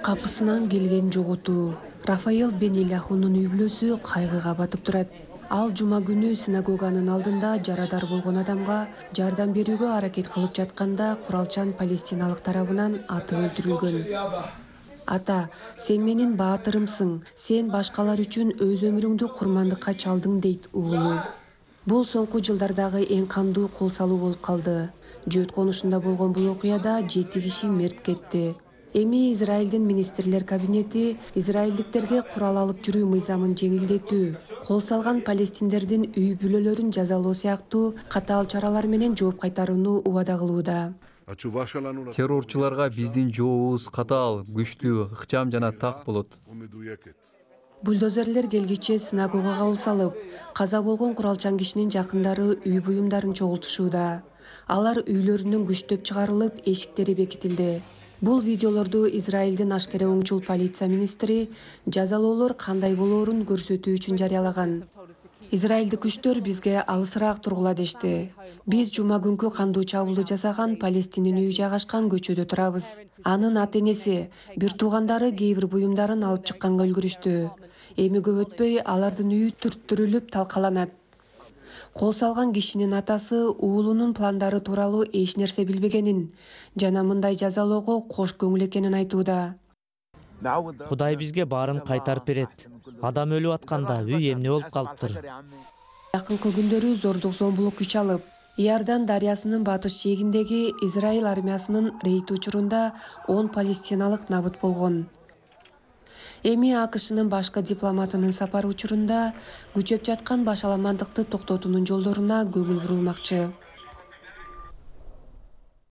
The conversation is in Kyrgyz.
Капысынан келген жоготуу. Рафаэл Бен-Иляхунун үй-бүлөсү кайгыга батып турат. Ал жума күнү синагоганын алдында жарадар болгон адамга жардам берүүгө аракет кылып жатканда куралчан палестиналык тарабынан атып өлтүрүлгөн. Ата, сен менин баатырымсың, сен башкалар үчүн өз өмүрүңдү курмандыкка чалдың, дейт уулу. Бул соңку жылдардагы эң кандуу кол салуу болуп калды. Жөөт конушунда болгон бул окуяда 7 киши мерт кетти. Эми Израилдин министрлер кабинети израилдиктерге курал алып жүрүү мыйзамын жеңилдетүү, кол салган палестиндердин үй-бүлөлөрүн жазалоо сыяктуу катаал чаралар менен жооп кайтарууну убада кылууда. Террорчуларга биздин жообубуз катаал, күчтүү, ыкчам жана так болот. Бульдозерлер келгиче синагогага кол салып, каза болгон куралчан кишинин жакындары үй буюмдарын чогултушууда. Алар үйлөрүнөн күчтөп чыгарылып, эшиктери бекитилди. Бул видеолорду Израилдин ашкере оңчул полиция министри жазалоолор кандай болоорун көрсөтүү үчүн жарыялаган. Израилдик күчтөр бизге алысыраак тургула дешти. Биз жума күнкү кандуу чабуулду жасаган Палестинин үйү жайгашкан көчөдө турабыз. Анын ата-энеси, бир туугандары кээ бир буюмдарын алып чыкканга үлгүрүштү. Эми көп өтпөй алардын үйү түрттүрүлүп талкаланат. Кол салган кишинин атасы уулунун пландары тууралуу эч нерсе билбегенин жана мындай жазалоого кош көңүл экенин айтууда. Кудай бизге баарын кайтарып берет. Адам өлүп атканда үй эмне болуп калыптыр? Жакынкы күндөрү зордук-зомбулук күч алып, Иордан дарыясынын батыш жээгиндеги Израиль армиясынын рейд учурунда 10 палестиналык набыт болгон. Эми АКШнын башкы дипломатынын сапары учурунда күчөп жаткан башаламандыкты токтотуунун жолдоруна көңүл бурулмакчы.